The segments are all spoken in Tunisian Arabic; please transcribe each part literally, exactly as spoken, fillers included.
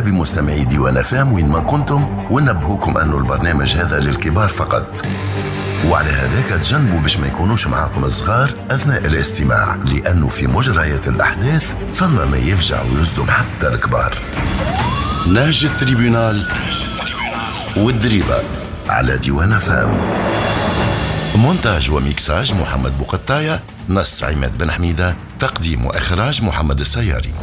بمستمعي ديوان أف أم وين ما كنتم، ونبهوكم أنه البرنامج هذا للكبار فقط، وعلى هذاك تجنبوا باش ما يكونوش معاكم الصغار أثناء الاستماع، لأنه في مجريات الأحداث فما ما يفجع ويصدم حتى الكبار. نهج ال tribunal والدريبة على ديوان أف أم. مونتاج وميكساج محمد بوقطاية، نص عماد بن حميدة، تقديم وإخراج محمد السياري.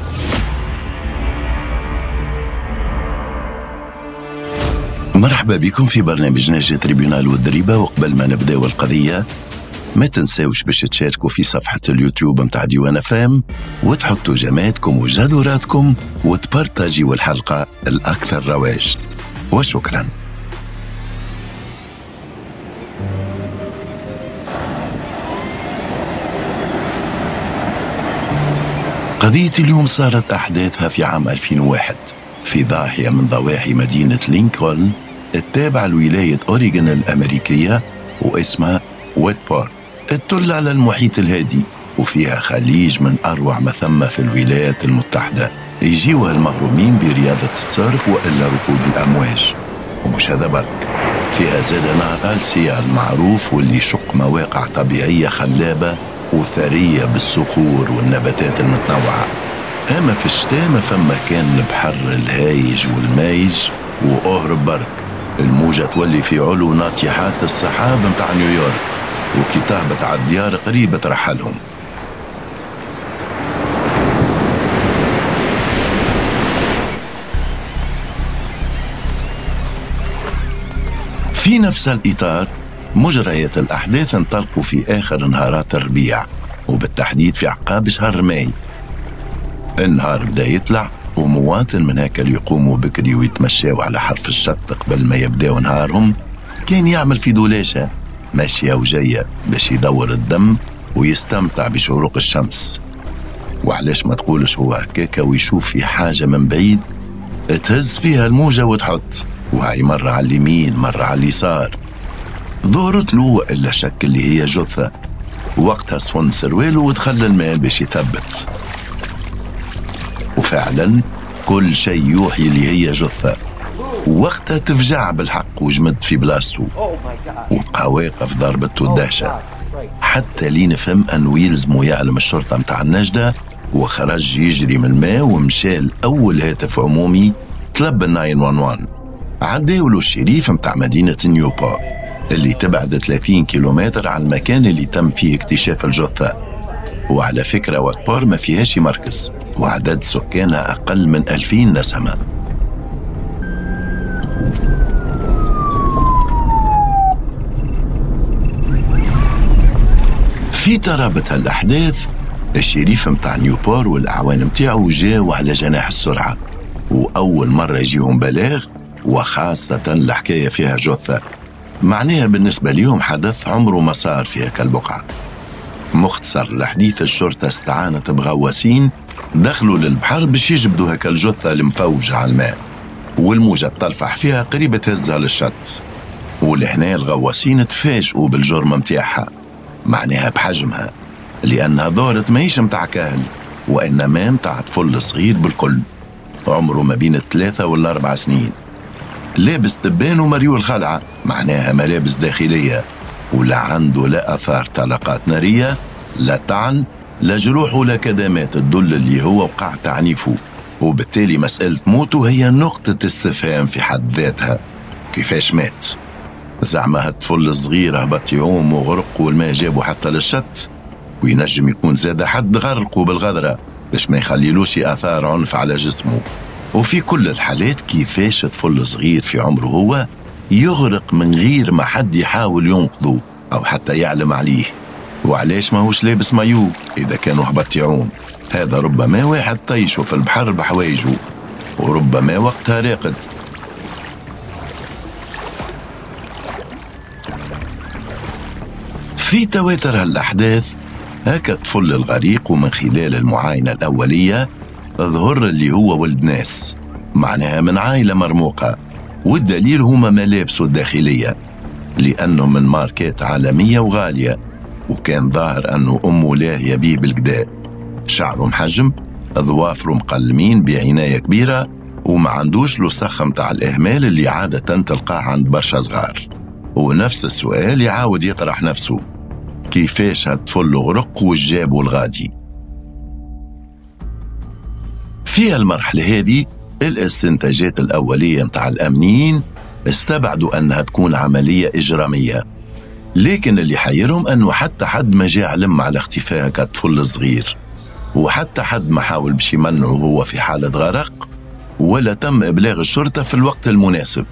مرحبا بكم في برنامج نهج tribunal والدريبة. وقبل ما نبداو القضية ما تنساوش باش تشاركوا في صفحة اليوتيوب متاع ديوان أف أم وتحطوا جاماتكم وجادوراتكم وتبارتاجيوا الحلقة الأكثر رواج، وشكراً. قضية اليوم صارت أحداثها في عام ألفين وواحد في ضاحية من ضواحي مدينة لينكولن التابعة لولاية أوريغون الأمريكية، واسمها ويتبور، تطل على المحيط الهادي وفيها خليج من أروع ما ثم في الولايات المتحدة، يجيوها المغرومين برياضة ال surf وإلا ركوب الأمواج. ومش هذا برك، فيها زاد نهر ألسيا المعروف واللي يشق مواقع طبيعية خلابة وثرية بالصخور والنباتات المتنوعة. أما في الشتاء ما فما كان البحر الهايج والمايج، وأهرب برك الموجة تولي في علو ناطحات السحاب متاع نيويورك، وكي تهبط على الديار قريبة ترحلهم. في نفس الإطار مجريات الأحداث انطلقوا في آخر نهارات الربيع، وبالتحديد في عقاب شهر ماي. النهار بدا يطلع، ومواطن من هكا اللي يقوموا بكري ويتمشاو على حرف الشط قبل ما يبداو نهارهم كان يعمل في دولاشة ماشية وجاية باش يدور الدم ويستمتع بشروق الشمس. وعلاش ما تقولش هو هكاكا ويشوف في حاجة من بعيد تهز فيها الموجة وتحط، وهاي مرة على اليمين مرة على اليسار. ظهرت له إلا شك اللي هي جثة. وقتها صفن سرواله ودخل الماء باش يثبت، وفعلا كل شيء يوحي اللي هي جثة. وقتها تفجع بالحق وجمد في بلاصته وبقى واقف ضربته الدهشة، حتى لين فهم أنه يلزمه يعلم الشرطة متاع النجدة، وخرج يجري من الماء ومشى لأول هاتف عمومي طلب ال تسعة واحد واحد. عداولو الشريف متاع مدينة نيوبور اللي تبعد ثلاثين كيلومتر عن المكان اللي تم فيه اكتشاف الجثة. وعلى فكرة واتبور ما فيهاش مركز، وعدد سكانها أقل من ألفين نسمة. في ترابط هالأحداث الشريف متاع نيوبور والأعوان متاعو جاو على جناح السرعة، وأول مرة يجيهم بلاغ، وخاصة الحكاية فيها جثة، معناها بالنسبة ليهم حدث عمره ما صار في هكا البقعة. مختصر الحديث، الشرطة استعانت بغواسين دخلوا للبحر باش يجبدوا هكا الجثة المفوجة على الماء، والموجة تلفح فيها قريبة تهزها للشط. ولهنا الغواسين تفاجئوا بالجرم متاعها، معناها بحجمها، لأنها ظهرت ماهيش متاع كهل وإنما متاع طفل صغير بالكل، عمره ما بين الثلاثة والأربع سنين، لابس تبان ومريول خلعة، معناها ملابس داخلية، ولا عنده لا أثار طلقات نارية، لا طعن، لا جروح ولا كدمات تدل اللي هو وقع تعنيفه. وبالتالي مسألة موته هي نقطة استفهام في حد ذاتها. كيفاش مات؟ زعما هالطفل الصغير هبط يعوم وغرق والماء جابه حتى للشط؟ وينجم يكون زاد حد غرقه بالغدرة باش ما يخليلوش آثار عنف على جسمه. وفي كل الحالات كيفاش طفل صغير في عمره هو يغرق من غير ما حد يحاول ينقذه أو حتى يعلم عليه؟ وعلاش ماهوش لابس مايو إذا كانوا هبط يعوم؟ هذا ربما واحد طيشه في البحر بحوايجه، وربما وقتها راقد. في تواتر هالأحداث هكا الطفل الغريق، ومن خلال المعاينة الأولية ظهر اللي هو ولد ناس، معناها من عائلة مرموقة، والدليل هما ملابسه الداخلية لأنه من ماركات عالمية وغالية، وكان ظاهر أنه أمه لاهية بيه بالقدا. شعره محجم، ظوافره مقلمين بعناية كبيرة، وما عندوش الوسخ متاع الإهمال اللي عادة تلقاه عند برشا صغار. ونفس السؤال يعاود يطرح نفسه، كيفاش هالطفل غرق وجابه الغادي؟ في المرحلة هذه الاستنتاجات الأولية متاع الأمنيين استبعدوا أنها تكون عملية إجرامية، لكن اللي حيرهم أنه حتى حد ما جاء علم على اختفاء كطفل صغير، وحتى حد ما حاول باش يمنعه هو في حالة غرق، ولا تم إبلاغ الشرطة في الوقت المناسب.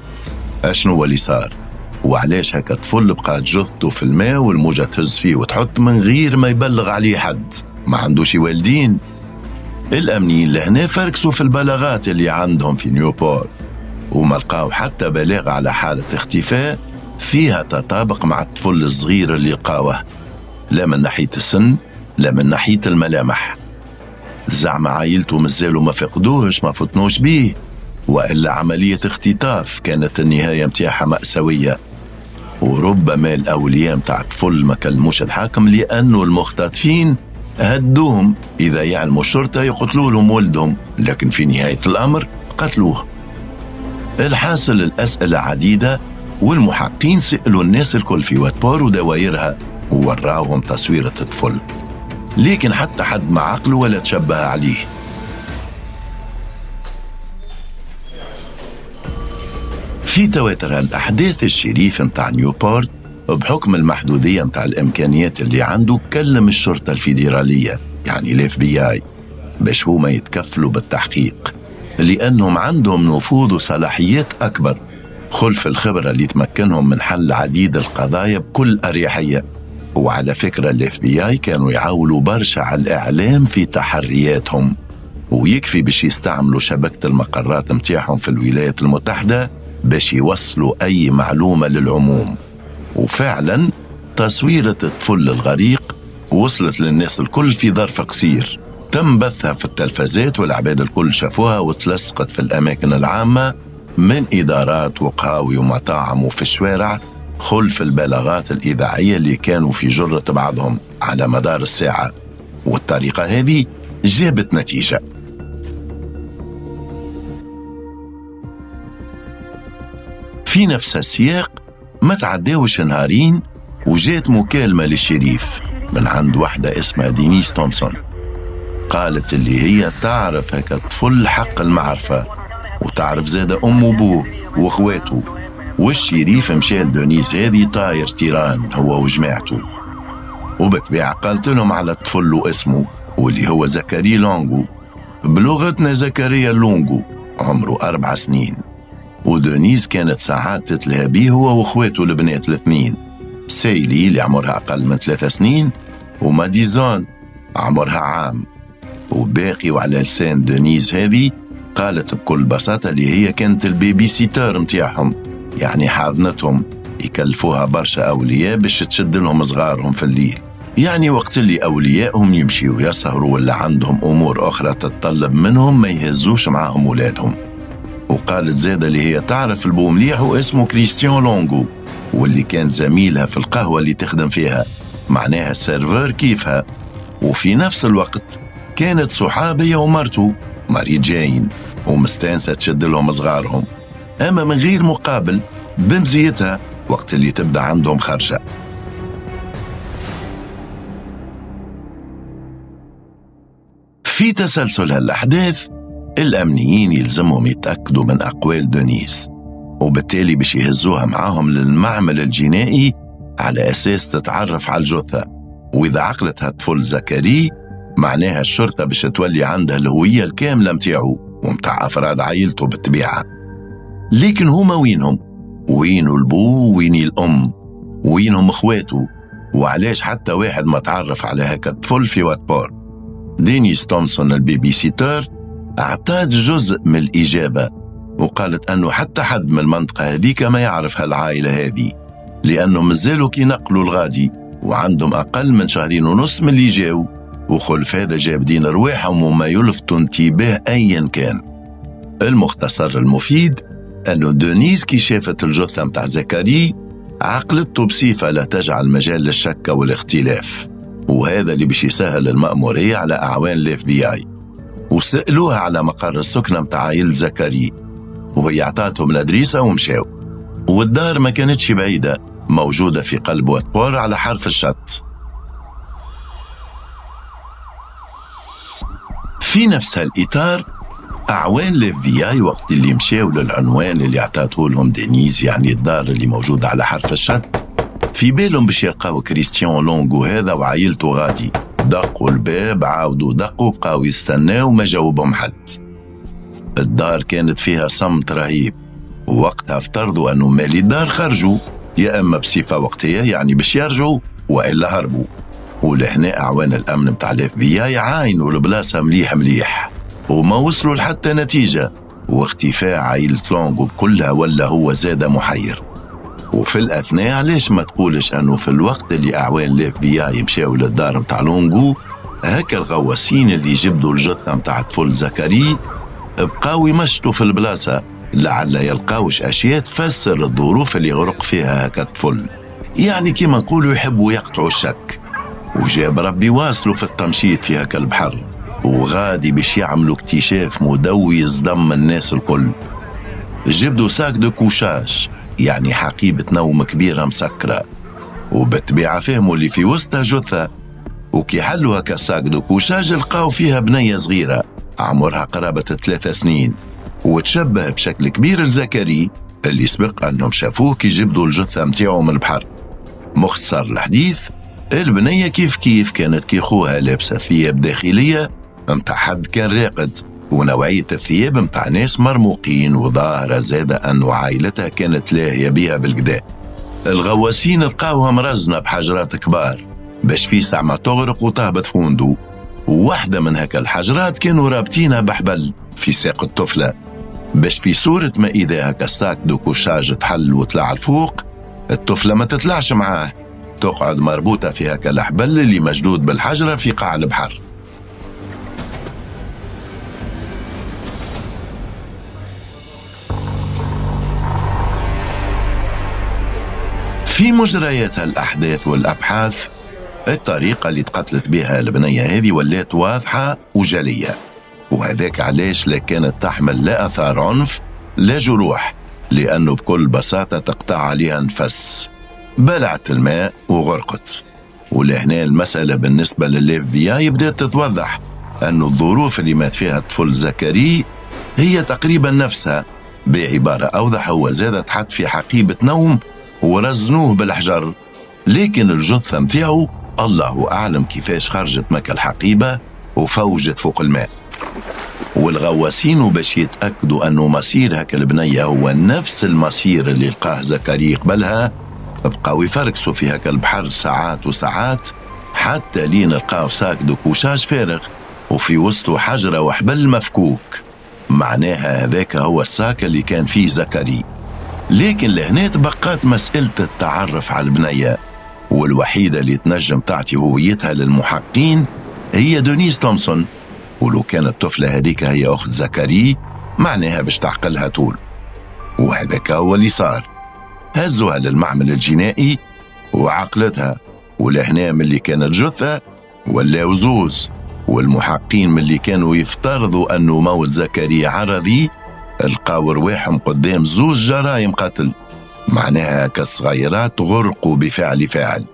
أشنو هو اللي صار؟ وعلاش هكا الطفل بقات جثته في الماء والموجة تهز فيه وتحط من غير ما يبلغ عليه حد؟ ما عندوش والدين. الأمنيين لهنا فركسوا في البلاغات اللي عندهم في نيوبور، وما لقاو حتى بلاغ على حالة اختفاء فيها تطابق مع الطفل الصغير اللي لقاوه، لا من ناحية السن لا من ناحية الملامح. زعما عائلته مازالوا ما فقدوهش، ما فتنوش بيه، وإلا عملية اختطاف كانت النهاية متاعها مأساوية. وربما الأولياء متاع الطفل ما كلموش الحاكم لأنه المختطفين هدوهم إذا يعلموا الشرطة يقتلوا لهم ولدهم، لكن في نهاية الأمر قتلوه. الحاصل الأسئلة عديدة، والمحقين سألوا الناس الكل في واتبور ودوايرها ووراوهم تصويرة الطفل، لكن حتى حد ما عقله ولا تشبه عليه. في تواتر الأحداث الشريف متاع نيوبورت بحكم المحدودية متاع الإمكانيات اللي عنده كلم الشرطة الفيدرالية، يعني ال FBI، باش هما يتكفلوا بالتحقيق، لأنهم عندهم نفوذ وصلاحيات أكبر خلف الخبرة اللي تمكنهم من حل عديد القضايا بكل أريحية. وعلى فكرة ال FBI كانوا يعاولوا برشا على الإعلام في تحرياتهم، ويكفي باش يستعملوا شبكة المقرات متاعهم في الولايات المتحدة باش يوصلوا أي معلومة للعموم. وفعلا تصويرة الطفل الغريق وصلت للناس الكل في ظرف قصير، تم بثها في التلفزات والعباد الكل شافوها وتلصقت في الأماكن العامة من إدارات وقهاوي ومطاعم وفي الشوارع، خلف البلاغات الإذاعية اللي كانوا في جرة بعضهم على مدار الساعة. والطريقة هذه جابت نتيجة. في نفس السياق ما تعداوش نهارين وجات مكالمة للشريف من عند واحدة اسمها دينيس تومسون، قالت اللي هي تعرف هكا الطفل حق المعرفة، وتعرف زادة أم وبوه وإخواته. والشريف مشى لدونيس هذه طاير تيران هو وجماعته، وبتبيع قالت لهم على الطفل واسمه واللي هو زكريا لونغو، بلغتنا زكريا لونغو، عمره أربع سنين. ودونيز كانت ساعات تتلهى بيه هو واخواته البنات الاثنين، سايلي اللي عمرها أقل من ثلاثة سنين وماديزون عمرها عام. وباقي وعلى لسان دونيز هذه قالت بكل بساطة اللي هي كانت ال baby-sitter متاعهم، يعني حاضنتهم، يكلفوها برشا أولياء باش تشد لهم صغارهم في الليل، يعني وقت اللي أوليائهم يمشيوا يسهروا ولا عندهم أمور أخرى تتطلب منهم ما يهزوش معاهم ولادهم. وقالت زادة اللي هي تعرف البو مليح واسمه كريستيان لونغو، واللي كان زميلها في القهوة اللي تخدم فيها، معناها ال serveur كيفها، وفي نفس الوقت كانت صحابية ومرته ماري جاين، ومستانسة تشد لهم صغارهم، أما من غير مقابل بمزيتها وقت اللي تبدأ عندهم خرجة. في تسلسل هالأحداث الأمنيين يلزمهم يتأكدوا من أقوال دونيس، وبالتالي باش يهزوها معاهم للمعمل الجنائي على أساس تتعرف على الجثة، وإذا عقلتها الطفل زكري معناها الشرطة باش تولي عندها الهوية الكاملة متاعه ومتاع أفراد عائلته بالطبيعة. لكن هما وينهم؟ وينو البو وين الأم؟ وينهم اخواته؟ وعلاش حتى واحد ما تعرف على هكا الطفل في واتبور؟ دينيس تومسون ال baby-sitter أعطت جزء من الإجابة، وقالت أنه حتى حد من المنطقة هذيك ما يعرف هالعائلة هذه، لأنه مازالوا كي نقلوا الغادي وعندهم أقل من شهرين ونص من اللي جاو، وخلف هذا جابدين رواحهم وما يلفتوا انتباه أيا كان. المختصر المفيد أنه دونيز كي شافت الجثة متاع زكري عقلته بصفة لا تجعل مجال للشك والاختلاف، وهذا اللي باش يسهل المأمورية على أعوان ال FBI. وسألوها على مقر السكنة متاع عائلة زكري، وهي عطاتهم l'adresse ومشاو. والدار ما كانتش بعيدة، موجودة في قلب واتبور على حرف الشط. في نفس هالإطار أعوان ال FBI وقت اللي مشاو للعنوان اللي عطاته لهم دينيز، يعني الدار اللي موجودة على حرف الشط، في بالهم باش يلقاو كريستيان لونغو هذا وعائلته غادي. دقوا الباب، عاودوا دقوا، بقاو يستناو، ما جاوبهم حد. الدار كانت فيها صمت رهيب، ووقتها افترضوا أنه مالي الدار خرجوا يا إما بصفة وقتية يعني باش يرجعوا، وإلا هربوا. ولهنا أعوان الأمن متاع ال FBI عاينوا البلاصة مليح مليح وما وصلوا لحتى نتيجة، واختفاء عائلة لونغو بكلها ولا هو زاد محير. وفي الأثناء علاش ما تقولش أنه في الوقت اللي أعوان ال FBI مشاو للدار متاع لونغو، هكا الغواصين اللي جبدوا الجثة متاع طفل زكري بقاو يمشطوا في البلاصة لعل يلقاوش أشياء تفسر الظروف اللي غرق فيها هكا الطفل، يعني كيما نقولوا يحبوا يقطعوا الشك. وجاب ربي واصلوا في التمشيط في هكا البحر، وغادي باش يعملوا اكتشاف مدوي يصدم الناس الكل. جبدوا sac de couchage، يعني حقيبة نوم كبيرة مسكرة، وبالطبيعة فهموا اللي في وسطها جثة. وكي حلوا هكا sac de couchage لقاو فيها بنية صغيرة عمرها قرابة ثلاثة سنين، وتشبه بشكل كبير لزكري اللي سبق أنهم شافوه كي جبدوا الجثة متاعو من البحر. مختصر الحديث، البنية كيف كيف كانت كي خوها لابسة ثياب داخلية متاع حد كان راقد، ونوعية الثياب متاع ناس مرموقين، وظاهرة زادة أنه عائلتها كانت لاهية بيها بالقدا. الغواسين لقاوها مرزنة بحجرات كبار باش في ساعة ما تغرق وتهبط فوندو، وواحدة من هكا الحجرات كانوا رابطينها بحبل في ساق الطفلة باش في صورة ما إذا هكا ال sac de couchage تحل وطلع الفوق الطفلة ما تطلعش معاه، تقعد مربوطة في هكا الحبل اللي مشدود بالحجرة في قاع البحر. في مجريات الأحداث والأبحاث، الطريقة اللي تقتلت بها البنية هذه ولات واضحة وجلية، وهذاك علاش لا كانت تحمل لا أثار عنف لا جروح، لأنه بكل بساطة تقطع عليها نفس، بلعت الماء وغرقت. ولهنا المسألة بالنسبة لل FBI بدأت تتوضح أنه الظروف اللي مات فيها الطفل زكري هي تقريبا نفسها، بعبارة أوضح هو زاد تحط في حقيبة نوم ورزنوه بالحجر، لكن الجثة متاعو الله أعلم كيفاش خرجت مكا الحقيبة وفوجت فوق الماء. والغواسين باش يتأكدوا أنه مصير هكا البنية هو نفس المصير اللي لقاه زكريا قبلها، بقاو يفركسوا في هكا البحر ساعات وساعات حتى لين لقاو sac de couchage فارغ وفي وسطه حجرة وحبل مفكوك، معناها هذاك هو ال sac اللي كان فيه زكريا. لكن لهنا تبقات مسألة التعرف على البنية، والوحيدة اللي تنجم تعطي هويتها للمحقين هي دونيس تومسون، ولو كانت الطفلة هذيك هي أخت زكريا معناها باش تعقلها طول. وهذاك هو اللي صار، هزوها للمعمل الجنائي وعقلتها، ولهنا من اللي كانت جثة ولاو زوز، والمحقين من اللي كانوا يفترضوا أنه موت زكريا عرضي لقاو رواحهم قدام زوز جرائم قتل، معناها كالصغيرات غرقوا بفعل فاعل.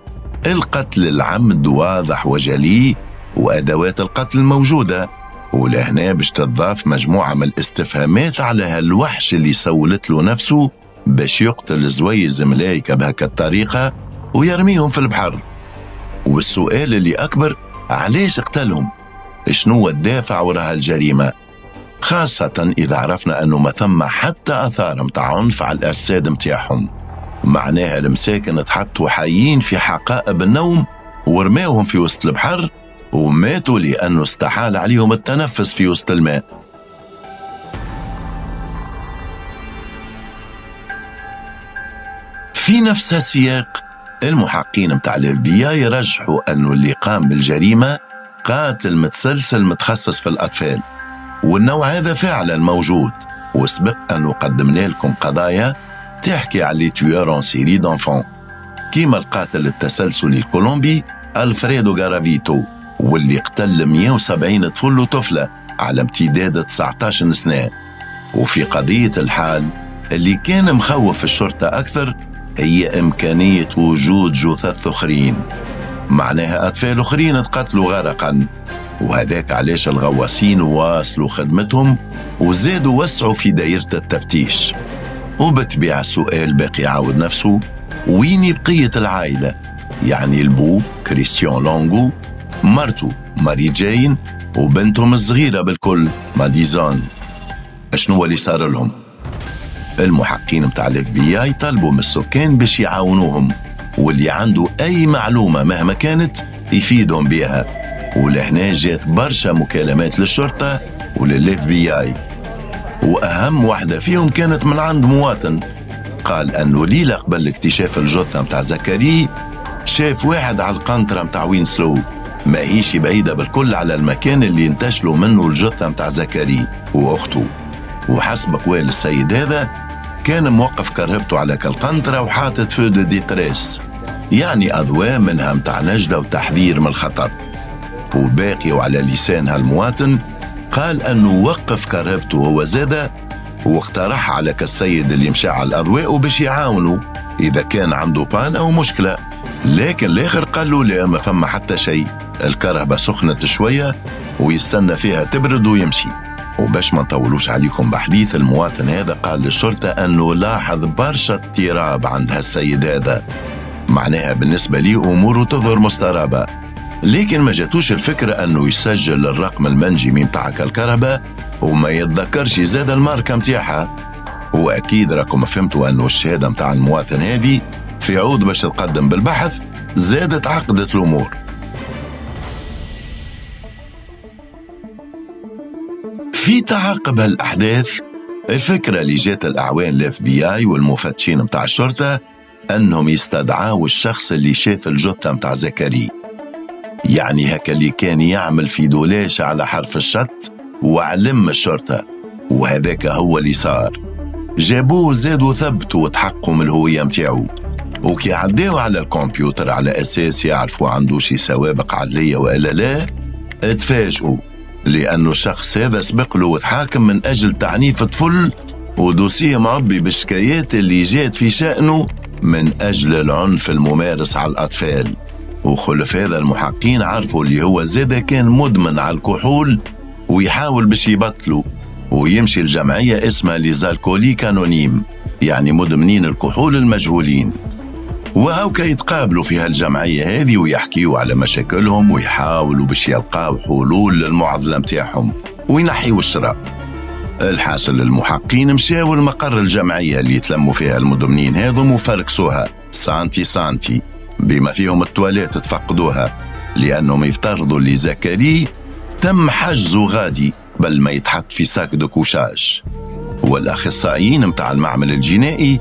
القتل العمد واضح وجلي وأدوات القتل موجودة، ولهنا باش تضاف مجموعة من الاستفهامات على هالوحش اللي سولت له نفسه باش يقتل زويز ملايكة بهكا الطريقة ويرميهم في البحر. والسؤال اللي أكبر، علاش قتلهم؟ شنو الدافع وراء الجريمة؟ خاصة إذا عرفنا أنه ما ثم حتى أثار متاع عنف على الأجساد متاعهم، معناها المساكن تحطوا حيين في حقائب النوم ورماوهم في وسط البحر وماتوا لأنه استحال عليهم التنفس في وسط الماء. في نفس السياق المحقين متاع ال FBI يرجحوا أنه اللي قام بالجريمة قاتل متسلسل متخصص في الأطفال، والنوع هذا فعلا موجود، وسبق أنه قدمنا لكم قضايا تحكي على les tueurs en série d'enfants، كيما القاتل التسلسلي الكولومبي ألفريدو غارافيتو واللي قتل مئة وسبعين طفل وطفلة على امتداد تسعة عشر سنة. وفي قضية الحال اللي كان مخوف الشرطة أكثر هي إمكانية وجود جثث أخرين، معناها أطفال أخرين تقتلوا غرقا. وهذاك علاش الغواصين واصلوا خدمتهم وزادوا وسعوا في دائرة التفتيش. وبتبيع السؤال باقي يعاود نفسه، وين بقية العائلة؟ يعني البو كريستيان لونغو، مرته ماري جاين، وبنتهم الصغيرة بالكل ماديزون. شنو اللي صار لهم؟ المحقين متاع ال FBI طلبوا من السكان باش يعاونوهم، واللي عنده اي معلومة مهما كانت يفيدهم بها. ولهنا جات برشا مكالمات للشرطة ولل FBI، واهم واحدة فيهم كانت من عند مواطن قال انه ليلة قبل اكتشاف الجثة متاع زكري شاف واحد على القنطرة متاع وينسلو، ماهيش بعيدة بالكل على المكان اللي انتشلوا منه الجثة متاع زكري واخته. وحسب قوال السيد هذا كان موقف كرهبته على كالقنطرة وحاطط feux de détresse، يعني أضواء منها متاع نجدة وتحذير من الخطر. وباقي وعلى لسان هالمواطن قال أنه وقف كرهبته هو زادة واقترح على كالسيد اللي مشى على الأضواء باش يعاونه إذا كان عنده panne أو مشكلة، لكن الآخر قال له لا، ما فما حتى شيء، الكرهبة سخنت شوية ويستنى فيها تبرد ويمشي. وباش ما نطولوش عليكم بحديث، المواطن هذا قال للشرطة أنه لاحظ برشا اضطراب عند هالسيد هذا، معناها بالنسبة ليه أموره تظهر مسترابة، لكن ما جاتوش الفكرة أنه يسجل الرقم المنجمي متاع الكهرباء وما يتذكرش زاد الماركة متاعها. وأكيد راكم فهمتوا أنه الشهادة متاع المواطن هذه في عوض باش تقدم بالبحث زادت عقدت الأمور. في تعاقب هالأحداث الفكرة اللي جات الأعوان ال FBI والمفتشين متاع الشرطة أنهم يستدعاوا الشخص اللي شاف الجثة متاع زكري، يعني هكا اللي كان يعمل في دولاش على حرف الشط وعلم الشرطة، وهذاك هو اللي صار. جابوه زادوا ثبتوا وتحققوا من الهوية متاعو، وكي عداو على الكمبيوتر على أساس يعرفوا عنده شي سوابق عدلية وإلا لا، اتفاجئوا لأنه الشخص هذا سبق له وتحاكم من أجل تعنيف طفل، ودوسيه معبي بالشكايات اللي جات في شأنه من أجل العنف الممارس على الأطفال. وخلف هذا المحقين عرفوا اللي هو زادة كان مدمن على الكحول ويحاول باش يبطلوا ويمشي الجمعية اسمها les Alcooliques Anonymes، يعني مدمنين الكحول المجهولين. وهوكا يتقابلوا في هالجمعية هذه ويحكيوا على مشاكلهم ويحاولوا باش يلقاو حلول للمعضلة متاعهم وينحيوا الشراب. الحاصل المحقين مشاو المقر الجمعية اللي يتلموا فيها المدمنين هذم وفركسوها سانتي سانتي بما فيهم التواليت تفقدوها، لأنهم يفترضوا اللي زكري تم حجزه غادي بل ما يتحط في sac de couchage. والأخصائيين متاع المعمل الجنائي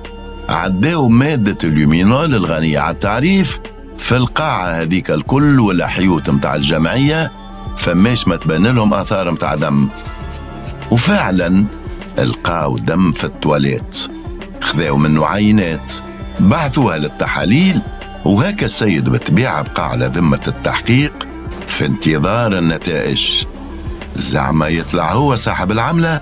عداو مادة ال luminol الغنية على التعريف في القاعة هذيك الكل والحيوت متاع الجمعية، فماش ما تبان لهم آثار متاع دم. وفعلا لقاو دم في التواليت، خذاو منه عينات بعثوها للتحاليل، وهكا السيد بالطبيعة بقى على ذمة التحقيق في انتظار النتائج. زعما يطلع هو صاحب العملة؟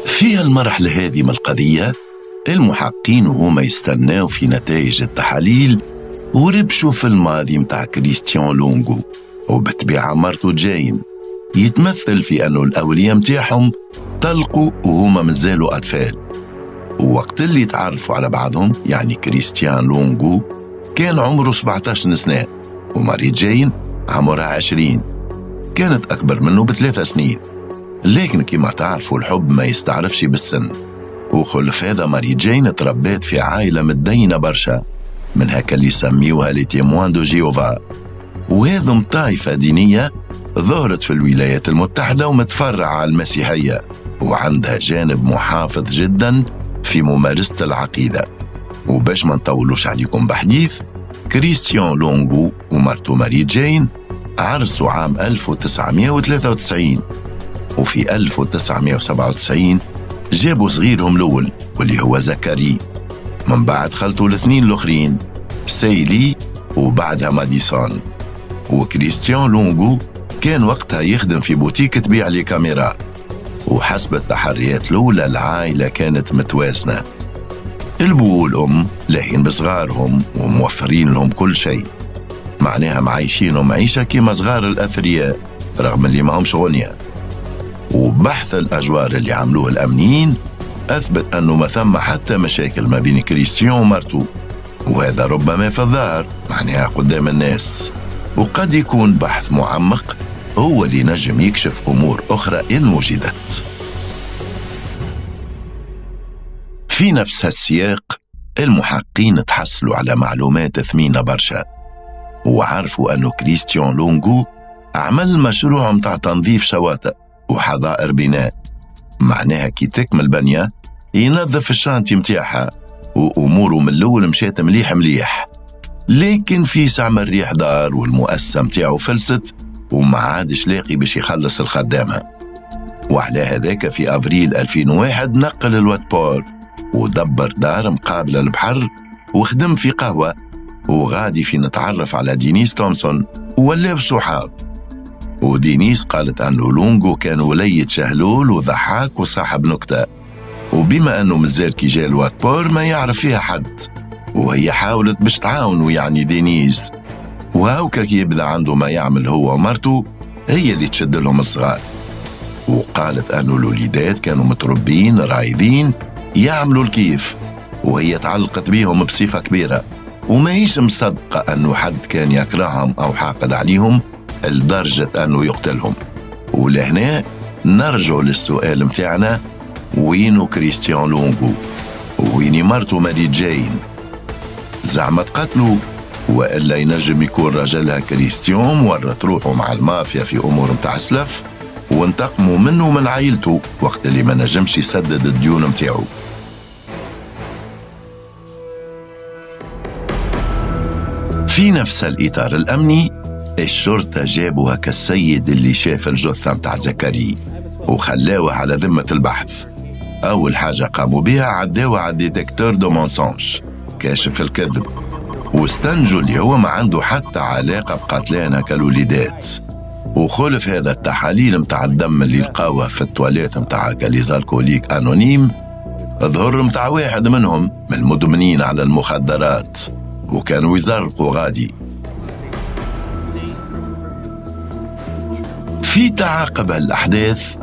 في المرحلة هذه من القضية المحقين وهما يستناو في نتائج التحاليل وربشوا في الماضي متاع كريستيان لونغو وبالطبيعة مرته جاين، يتمثل في أنه الأولياء متاعهم طلقوا وهما مازالوا أطفال. ووقت اللي تعرفوا على بعضهم، يعني كريستيان لونغو كان عمره سبعة عشر سنة وماري جاين عمرها عشرين، كانت أكبر منه بثلاث سنين. لكن كما تعرفوا الحب ما يستعرفش بالسن، وخلف هذا ماري جاين تربات في عائلة متدينة برشا من هكا اللي يسميوها les Témoins de Jéhovah، وهذم طائفة دينية ظهرت في الولايات المتحدة ومتفرعة على المسيحية وعندها جانب محافظ جدا في ممارسة العقيدة. وباش ما نطولوش عليكم بحديث، كريستيان لونغو ومرته ماري جين عرسوا عام ألف وتسعمائة وثلاثة وتسعين، وفي ألف وتسعمائة وسبعة وتسعين جابوا صغيرهم الأول واللي هو زكري. من بعد خلطوا الاثنين الآخرين، سيلي وبعدها ماديسون. وكريستيان لونغو كان وقتها يخدم في بوتيك تبيع les caméras، وحسب التحريات الأولى العائلة كانت متوازنة، البو والأم لاهين بصغارهم وموفرين لهم كل شيء، معناها معايشينهم عيشة كيما صغار الأثرياء رغم اللي ما همش غنية. وبحث الأجوار اللي عملوه الأمنيين أثبت أنه ما ثم حتى مشاكل ما بين كريستيان ومرتو، وهذا ربما في الظاهر معناها قدام الناس، وقد يكون بحث معمق هو اللي نجم يكشف أمور أخرى إن وجدت. في نفس السياق المحققين تحصلوا على معلومات ثمينة برشا، وعرفوا أنه كريستيان لونغو عمل مشروع متاع تنظيف شواطئ وحظائر بناء، معناها كي تكمل بنية ينظف ال chantier متاعها، وأموره من الأول مشات مليح مليح. لكن في ساعة من الريح دار والمؤسسة متاعه فلست وما عادش لاقي باش يخلص الخدامة، وعلى هذاك في أفريل ألفين وواحد نقل الواتبور ودبر دار مقابلة البحر وخدم في قهوة، وغادي في نتعرف على دينيس تومسون ولاو صحاب. ودينيس قالت أنه لونغو كان وليد شهلول وضحاك وصاحب نكتة، وبما أنه مازال كي جا الواتبور ما يعرف فيها حد، وهي حاولت باش تعاونه يعني دينيز، وهاوكا كي يبدا عنده ما يعمل هو ومرته هي اللي تشد لهم الصغار. وقالت أنه الوليدات كانوا متربين رايدين يعملوا الكيف، وهي تعلقت بيهم بصفة كبيرة، وما هيش مصدقة أنه حد كان يكرههم أو حاقد عليهم لدرجة أنه يقتلهم. ولهنا نرجع للسؤال متاعنا، وينو كريستيان لونغو؟ ويني مرته ماري جين؟ زعما تقتلوا وإلا ينجم يكون رجلها كريستيان ورط روحه مع المافيا في أمور متاع سلف وانتقموا منه من عائلته وقت اللي ما نجمش يسدد الديون متاعه. في نفس الإطار الأمني الشرطة جابوها كالسيد اللي شاف الجثة متاع زكريا وخلاوه على ذمة البحث. أول حاجة قاموا بها عداوه على détecteur de mensonges، كاشف الكذب، واستنجوا اللي هو ما عنده حتى علاقة بقتلانا كالوليدات. وخلف هذا التحاليل متاع الدم اللي لقاوه في التواليت متاع les alcooliques anonymes ظهر متاع واحد منهم من المدمنين على المخدرات، وكانوا يزرقوا غادي. في تعاقب الأحداث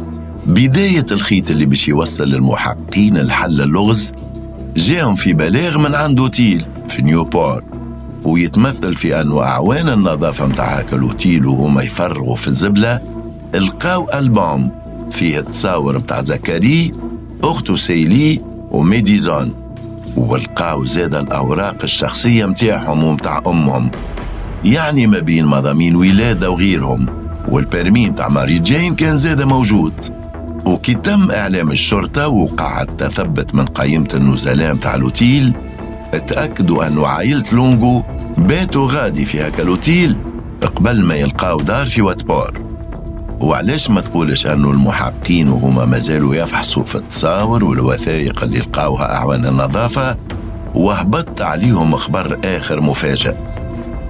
بداية الخيط اللي باش يوصل للمحققين الحل اللغز جاهم في بلاغ من عند اوتيل في نيوبور، ويتمثل في أنه أعوان النظافة متاع هاك الأوتيل وهما يفرغوا في الزبلة لقاو ألبوم فيه التصاور متاع زكريا أخته سيلي وميديزون، ولقاو زاد الأوراق الشخصية متاعهم ومتاع أمهم، يعني ما بين مضامين ولادة وغيرهم، وال permis متاع ماري جين كان زاد موجود. وكي تم إعلام الشرطة وقع التثبت من قائمة النزلاء متاع الأوتيل، تأكدوا أنه عائلة لونغو باتوا غادي في هاك الأوتيل قبل ما يلقاو دار في واتبور. وعلاش ما تقولش أنه المحققين وهما مازالوا يفحصوا في التصاور والوثائق اللي لقاوها أعوان النظافة وهبط عليهم خبر آخر مفاجئ،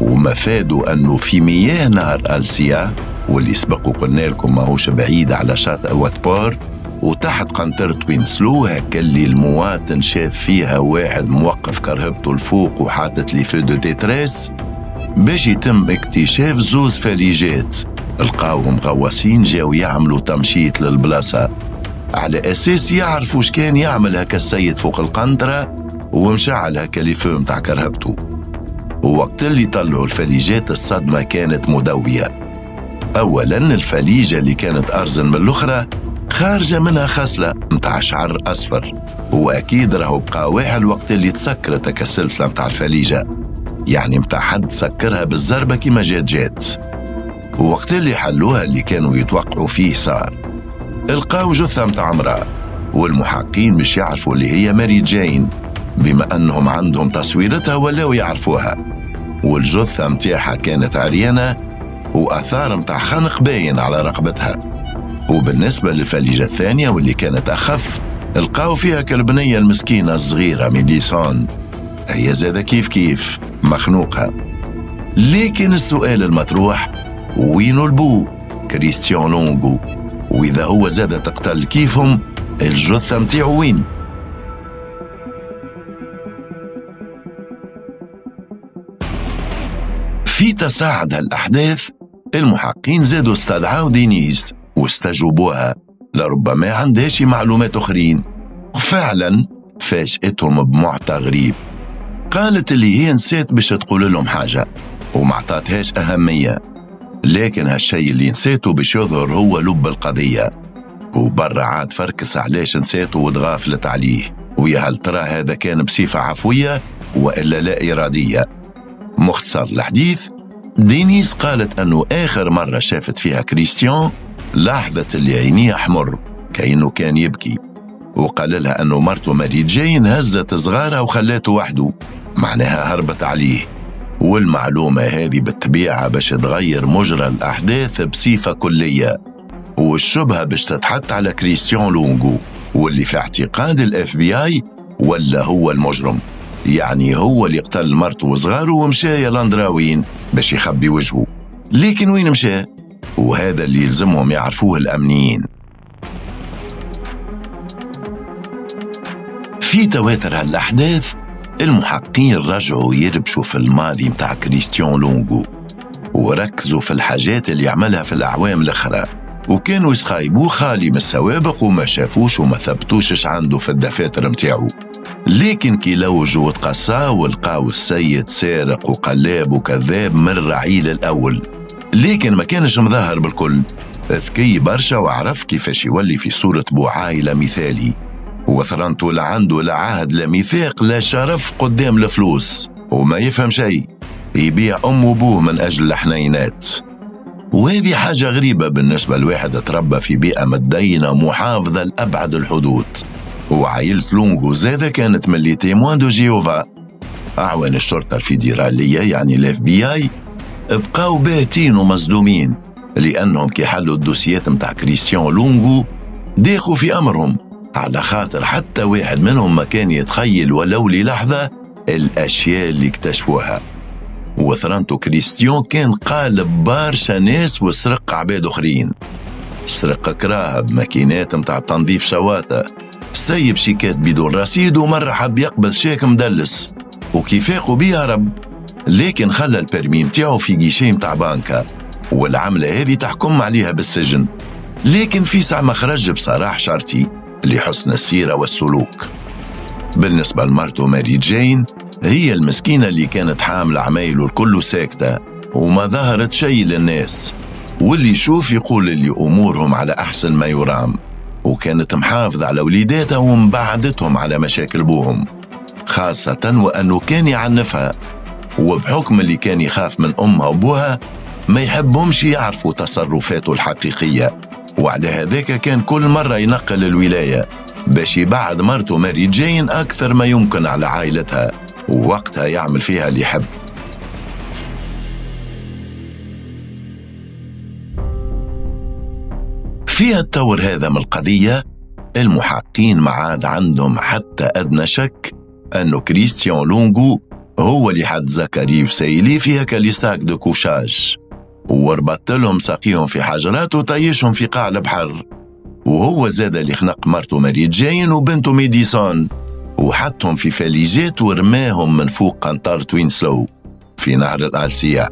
ومفادوا أنه في مياه نهر ألسيا واللي سبقوا قلنا لكم ماهوش بعيد على شاطئ واتبور وتحت قنطرة وينسلو، هكا اللي المواطن شاف فيها واحد موقف كرهبته الفوق وحاطط les feux de détresse باش يتم اكتشاف زوز فاليجات لقاوهم غواصين جاو يعملوا تمشيط للبلاصة على أساس يعرفوا اش كان يعمل هكا السيد فوق القنطرة ومشعل هكا les feux متاع كرهبته. ووقت اللي طلعوا الفاليجات الصدمة كانت مدوية. أولاً الفليجة اللي كانت أرزن من الأخرى خارجة منها خصلة متاع شعر أصفر، وأكيد راهو بقى واحد وقت اللي تسكرت هكا السلسلة متاع الفليجة، يعني متاع حد سكرها بالزربة كيما جات جات. ووقت اللي حلوها اللي كانوا يتوقعوا فيه صار، لقاو جثة متاع امرأة، والمحققين مش يعرفوا اللي هي ماري جين بما أنهم عندهم تصويرتها ولاو يعرفوها، والجثة متاعها كانت عريانة وآثار متاع خنق باين على رقبتها. وبالنسبة للفليجة الثانية واللي كانت أخف لقاو فيها كالبنية المسكينة الصغيرة ميديسون هي زادة كيف كيف مخنوقة. لكن السؤال المطروح، وينو البو كريستيان لونغو؟ وإذا هو زادة تقتل كيفهم، الجثة متاعو وين؟ في تصاعد هالأحداث المحققين زادوا استدعوا دينيز واستجوبوها، لربما عندهاش معلومات أخرين. وفعلا فاجئتهم بمعطى غريب، قالت اللي هي نسيت باش تقول لهم حاجة وما عطاتهاش أهمية، لكن هالشي اللي نسيته باش يظهر هو لب القضية. وبرا عاد فركس علاش نسيته وتغافلت عليه، ويا هل ترى هذا كان بصفة عفوية وإلا لا إرادية؟ مختصر الحديث، دينيس قالت أنه آخر مرة شافت فيها كريستيان لاحظت اللي عينيه أحمر كأنه كان يبكي، وقال لها أنه مرته ماري جين هزت صغارها وخلاته وحده، معناها هربت عليه. والمعلومة هذه بالطبيعة باش تغير مجرى الأحداث بصفة كلية، والشبهة باش تتحط على كريستيان لونغو، واللي في اعتقاد ال FBI ولا هو المجرم، يعني هو اللي قتل مرته وصغاره ومشى يا لاندراوين باش يخبي وجهه. لكن وين مشى؟ وهذا اللي يلزمهم يعرفوه الأمنيين. في تواتر هالأحداث المحققين رجعوا يربشوا في الماضي متاع كريستيان لونغو، وركزوا في الحاجات اللي عملها في الأعوام الأخرى، وكانوا يسخايبوه خالي من السوابق وما شافوش وما ثبتوش عنده في الدفاتر متاعو. لكن كي لوجوا وتقصاو ولقاو السيد سارق وقلاب وكذاب من الرعيل الأول، لكن ما كانش مظاهر بالكل، ذكي برشا وعرف كيفاش يولي في صورة بو عائلة مثالي، وثرنته لا عنده لا عهد لا ميثاق لا شرف قدام الفلوس، وما يفهم شيء، يبيع أم وبوه من أجل الحنينات. وهذه حاجة غريبة بالنسبة لواحد تربى في بيئة متدينة محافظة لأبعد الحدود. وعائلة لونغو زادة كانت من les Témoins de Jéhovah. أعوان الشرطة الفيدرالية يعني ال FBI بقاو باهتين ومصدومين، لأنهم كي حلوا الدوسيات متاع كريستيان لونغو داخوا في أمرهم، على خاطر حتى واحد منهم ما كان يتخيل ولو للحظة الأشياء اللي اكتشفوها. وثرانتو كريستيان كان قالب برشا ناس وسرق عباد أخرين، سرق كراهب، ماكينات متاع تنظيف شواطئ، سيب شيكات بدون رصيد، ومرة حب يقبض شيك مدلس وكيفاقوا بيه هرب، لكن خلى ال permis متاعو في guichet متاع بانكا، والعملة هذه تحكم عليها بالسجن. لكن في ساعة ما خرج بصراح شرطي لحسن السيرة والسلوك. بالنسبة لمرته ماري جين، هي المسكينة اللي كانت حاملة عمايله الكل ساكتة وما ظهرت شيء للناس، واللي يشوف يقول اللي أمورهم على أحسن ما يرام، وكانت محافظة على وليداتها ومبعدتهم على مشاكل بوهم، خاصة وأنه كان يعنفها، وبحكم اللي كان يخاف من أمها وبوها ما يحبهمش يعرفوا تصرفاته الحقيقية، وعلى هذاك كان كل مرة ينقل الولاية باش يبعد مرته ماري جين أكثر ما يمكن على عائلتها، ووقتها يعمل فيها اللي يحب. في التور هذا من القضية المحققين ما عاد عندهم حتى أدنى شك أنه كريستيان لونغو هو اللي حط زكاري وسايلي في هكا les sacs de couchage وربط لهم ساقيهم في حجرات وطيشهم في قاع البحر، وهو زاد اللي خنق مرته ماري جين وبنته ميديسون وحطهم في فاليجات ورماهم من فوق قنطرة وينسلو في نهر الألسيا.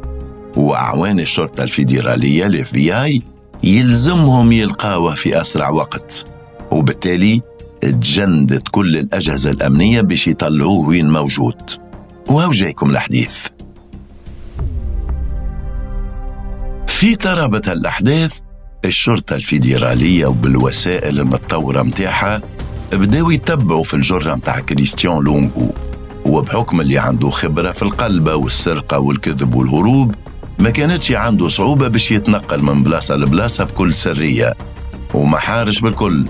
وأعوان الشرطة الفيدرالية ال FBI يلزمهم يلقاوه في أسرع وقت، وبالتالي تجندت كل الأجهزة الأمنية باش يطلعوه وين موجود. وهو جايكم الحديث. في ترابط الأحداث الشرطة الفيدرالية وبالوسائل المتطورة متاعها بداو يتبعوا في الجرة متاع كريستيان لونغو، وبحكم اللي عنده خبرة في القلبة والسرقة والكذب والهروب ما كانتش عنده صعوبة باش يتنقل من بلاصة لبلاصة بكل سرية، وما حارش بالكل،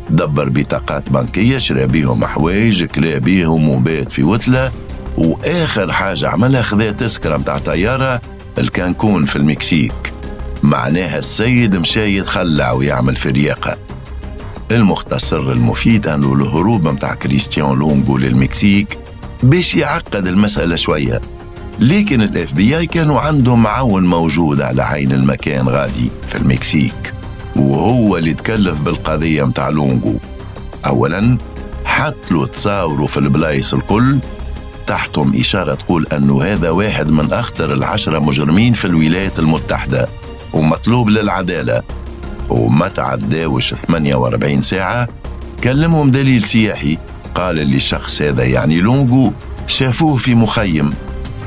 دبر بطاقات بنكية شرى بيهم حوايج كلا بيهم وبات في وتلة، وآخر حاجة عملها خذا تذكرة متاع طيارة الكانكون في المكسيك، معناها السيد مشى يتخلع ويعمل فرياقة. المختصر المفيد أنه الهروب متاع كريستيان لونغو للمكسيك باش يعقد المسألة شوية. لكن ال FBI كانوا عندهم معاون موجود على عين المكان غادي في المكسيك، وهو اللي تكلف بالقضية متاع لونغو. أولاً حط له تصاوروا في البلايص الكل، تحتهم إشارة تقول أنه هذا واحد من أخطر العشرة مجرمين في الولايات المتحدة ومطلوب للعدالة. وما تعداوش ثمانية وأربعين ساعة كلمهم دليل سياحي قال اللي الشخص هذا يعني لونغو شافوه في مخيم،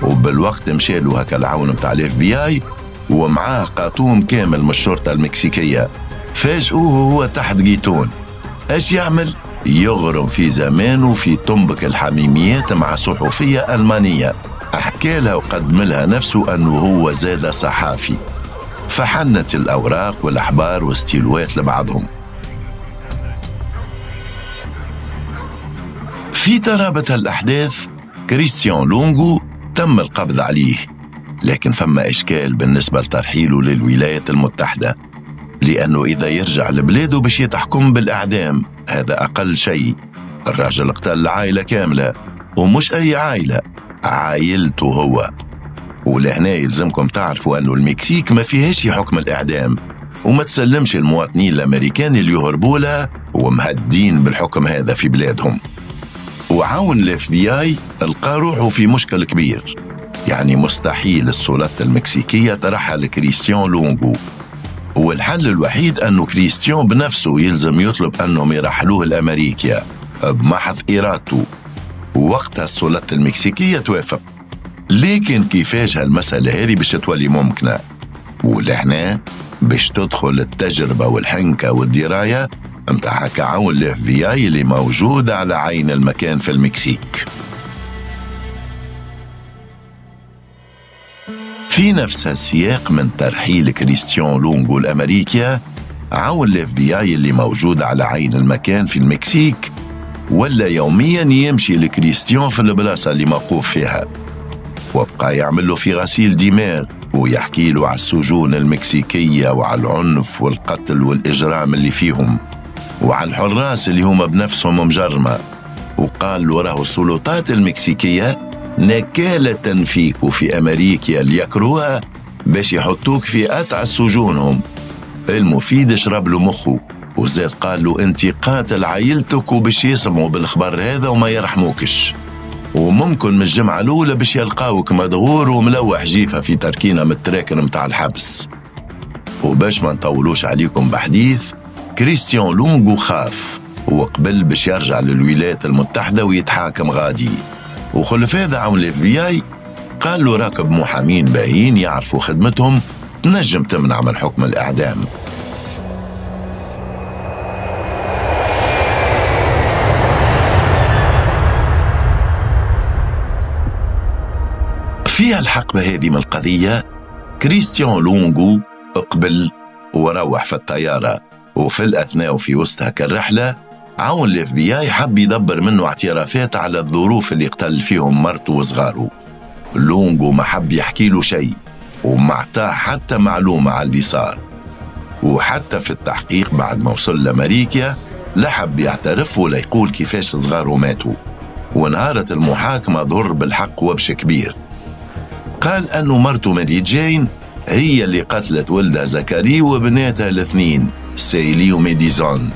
وبالوقت مشالو هكا العون متاع ال FBI ومعاه قاطوم كامل من الشرطة المكسيكية. فاجئوه وهو تحت جيتون. اش يعمل؟ يغرم في زمانه في طنبك الحميميات مع صحفية ألمانية، أحكى لها وقدم لها نفسه أنه هو زاد صحافي. فحنت الأوراق والأحبار والستيلوات لبعضهم. في ترابة الأحداث كريستيان لونغو تم القبض عليه، لكن فما إشكال بالنسبة لترحيله للولايات المتحدة، لأنه إذا يرجع لبلاده باش يتحكم بالإعدام، هذا أقل شيء. الراجل قتل العائلة كاملة، ومش أي عائلة، عائلته هو. ولهنا يلزمكم تعرفوا أنه المكسيك ما فيهاش حكم الإعدام، وما تسلمش المواطنين الأمريكان اللي يهربوا لها ومهدين بالحكم هذا في بلادهم. وعاون ال FBI لقى روحه في مشكل كبير، يعني مستحيل السلطات المكسيكية ترحل كريستيان لونغو، والحل الوحيد أنه كريستيان بنفسه يلزم يطلب أنهم يرحلوه لأمريكا بمحض إرادته، ووقتها السلطات المكسيكية توافق. لكن كيفاش هالمسألة هذه باش تولي ممكنة؟ ولهنا باش تدخل التجربة والحنكة والدراية متاع كعون ال FBI اللي موجود على عين المكان في المكسيك. في نفس السياق من ترحيل كريستيان لونغو لأمريكا، عون ال FBI اللي موجود على عين المكان في المكسيك ولا يوميا يمشي لكريستيان في البلاصة اللي موقوف فيها، وبقى يعمل له في غسيل دماغ ويحكي له على السجون المكسيكية وعلى العنف والقتل والإجرام اللي فيهم وعلى الحراس اللي هما بنفسهم مجرمة. وقال له راهو السلطات المكسيكية نكالة فيك وفي أمريكا اللي يكروها باش يحطوك في أتعس سجونهم. المفيد شرب له مخه وزاد قال له انت قاتل عائلتك وباش يسمعوا بالخبر هذا وما يرحموكش، وممكن من الجمعة الأولى باش يلقاوك مدغور وملوح جيفة في تركينة من التراكن متاع الحبس. وباش ما نطولوش عليكم بحديث، كريستيان لونغو خاف وقبل باش يرجع للولايات المتحدة ويتحاكم غادي. وخلف هذا عون ال FBI قال له راكب محامين باهين يعرفوا خدمتهم تنجم تمنع من حكم الإعدام. في الحقبة هذه من القضية كريستيان لونغو اقبل وروح في الطيارة، وفي الأثناء وفي وسط الرحلة عون ال FBI حب يدبر منه اعترافات على الظروف اللي قتل فيهم مرته وصغاره. لونغو ما حب يحكي له شيء وما اعطاه حتى معلومة على اللي صار، وحتى في التحقيق بعد ما وصل لأمريكا لا حب يعترف ولا يقول كيفاش صغاره ماتوا. ونهارة المحاكمة ظهر بالحق وبش كبير، قال أنه مرته ماري جين هي اللي قتلت ولدها زكري وبناتها الاثنين سيلي وميديزون،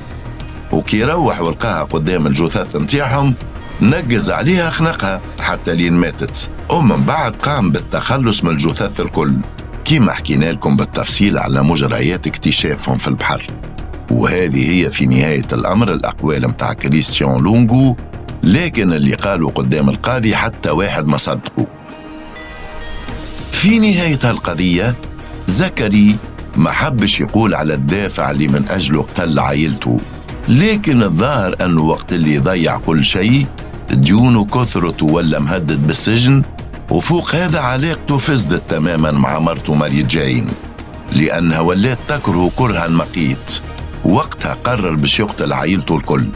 وكي روح ولقاها قدام الجثث متاعهم نقز عليها خنقها حتى لين ماتت، ومن بعد قام بالتخلص من الجثث الكل كما حكينا لكم بالتفصيل على مجريات اكتشافهم في البحر. وهذه هي في نهاية الأمر الأقوال متاع كريستيان لونغو، لكن اللي قالوا قدام القاضي حتى واحد ما صدقوا. في نهاية القضية زكري ما حبش يقول على الدافع اللي من أجله قتل عائلته، لكن الظاهر أنه وقت اللي ضيع كل شيء ديونه كثرت ولا مهدد بالسجن، وفوق هذا علاقته فسدت تماما مع مرته ماري جين لأنها ولات تكره كرها مقيت. وقتها قرر باش يقتل عائلته الكل،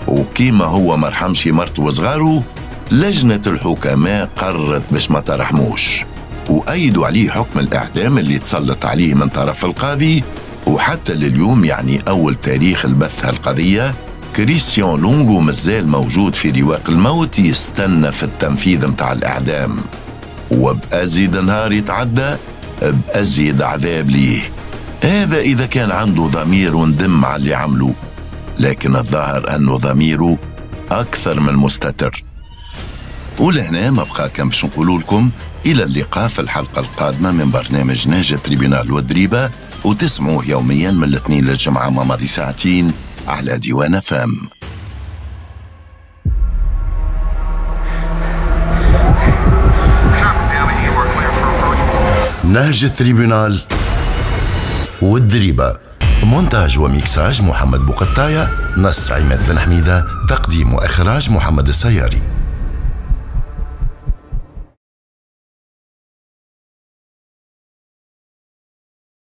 وكيما هو مرحمش مرته وصغاره لجنة الحكماء قررت باش ما ترحموش، وأيدوا عليه حكم الإعدام اللي تسلط عليه من طرف القاضي. وحتى لليوم يعني أول تاريخ البث هالقضية كريستيان لونغو مازال موجود في رواق الموت يستنى في التنفيذ متاع الإعدام، وبأزيد نهار يتعدى بأزيد عذاب ليه، هذا إذا كان عنده ضمير وندم على اللي عمله، لكن الظاهر أنه ضميره أكثر من مستتر. ولهنا ما بقى كان باش نقولوا لكم إلى اللقاء في الحلقة القادمة من برنامج نهج tribunal والدريبة، وتسمعوه يوميا من الاثنين للجمعة مع ماضي ساعتين على ديوان فام. نهج tribunal والدريبة، مونتاج وميكساج محمد بوقطاية، نص عماد بن حميدة، تقديم وإخراج محمد السياري.